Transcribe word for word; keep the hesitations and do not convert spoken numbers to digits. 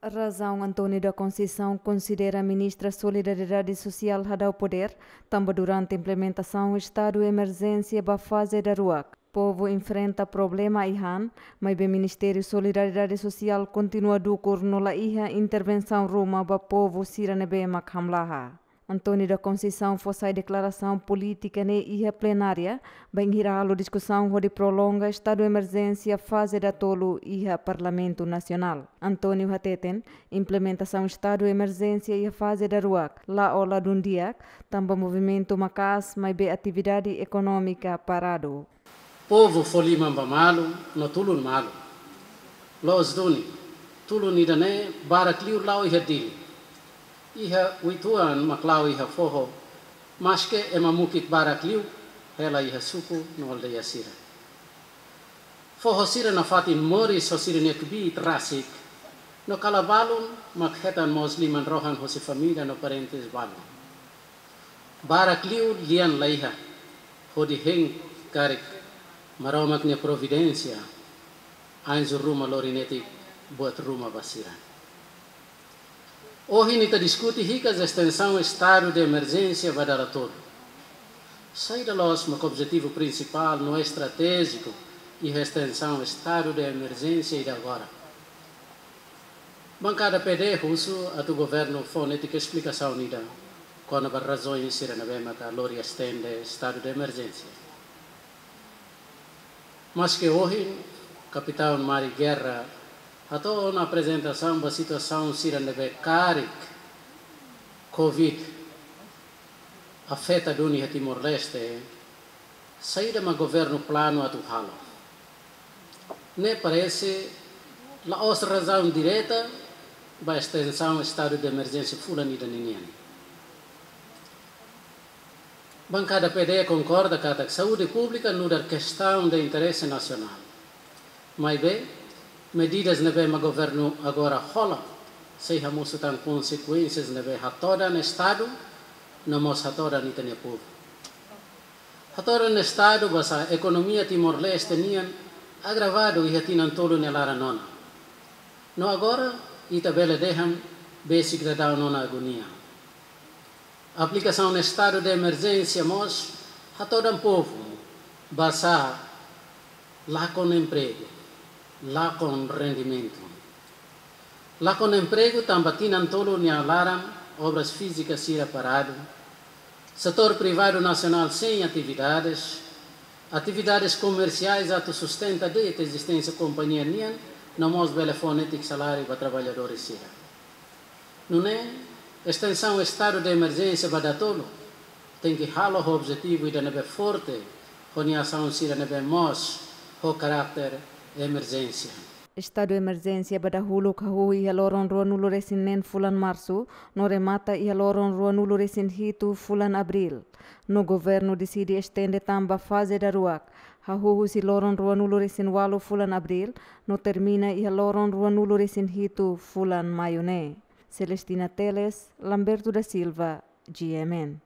Razaun António da Conceição konsidera Ministra Solidariedade Sosiál hadau podér, tanba durante implementasaun estadu emerjénsia ba faze daruak, povu enfrenta problema iha-ne'e, maibé Ministériu Solidariedade Sosiál kontinua dukur no la iha intervensaun ruma ba povu sira ne'ebé mak hamlaha. António da Conceição fó sai deklarasaun polítika ne'e iha plenária, bainhira halo diskusaun hodi prolonga estadu emerjénsia faze datolu iha Parlamentu Nasionál. António hateten, implementasaun estadu emerjénsia iha faze daruak la'o ladún di'ak, tanba movimentu maka'as, maibé atividade ekonómika paradu. Povu fó liman ba malu, no tulun malu. Loos duni, tulun ida-ne'e barak liu la'o iha Dili. Iha uitoan mak la'o iha foho, maske ema mukit barak liu hela iha suku no aldeia sira. Foho sira nafatin moris ho sira-nia kbiit rasik, no kala balun mak hetan mós liman-rohan hosi família no parentes balun. Barak liu lian la iha, hodi hein karik Maromak nia providénsia, anju ruma lori netik buat ruma ba sira. Ohin ita diskute hikas estensaun estadu de emerjénsia ba dala tolu. Saida loos mak objetivu prinsipál no estratéjiku iha estensaun estadu de emerjénsia ida agora? Bankada P D husu atu governu fó netik esplikasaun ida kona-ba razaun sira ne'ebé maka lori estende estadu de emerjénsia. Maske ohin, Kapitaun Mari Guerra hato'o ona aprezentasaun ba situasaun sira ne'ebé karik Covid afeta duni iha Timor-Leste, saida mak governu planu atu halo? Ne'e parese la'ós razaun direta ba estensaun estadu de emerjénsia fulan ida ninian. Bankada P D konkorda katak saúde públika nu'udar kestaun de interese nasionál. Maibé, medidas ne'ebé mak governu agora hola, sei hamosu tan konsekuénsias ne'ebé hatodan estadu, no mós hatodan ita-nia povu. Hatodan estadu basá ekonomia Timor-Leste nian agravadu iha tinan tolu nia laran ona. No agora, ita bele dehan besik daudaun ona agonia. Aplikasaun estadu de emerjénsia mós hatodan povu basá lakon empregu, lakon rendimentu. Lakon empregu tanba tinan tolu nia laran obras fízika sira paradu, setór privadu nasionál sein atividades, atividades komersiais atu sustenta de'it ezisténsia kompañia nian, no mós bele fó netik saláriu ba traballadór sira. Nune'e, estensaun estadu de emerjénsia ba datolu tenke halo ho objetivu ida ne'ebé forte, ho nia asaun sira ne'ebé mós ho karáter emerjénsia. Estadu emerjénsia ba dahuluk hahú iha loron ruanulu-resin-neen fulan Marsu, no remata iha loron ruanulu-resin-hitu fulan Abríl. No governu deside estende tan ba faze daruak, hahú husi loron ruanulu-resin-ualu fulan Abríl, no termina iha loron ruanulu-resin-hitu fulan Maiu ne'e. Celestina Teles, Lamberto da Silva, G M N.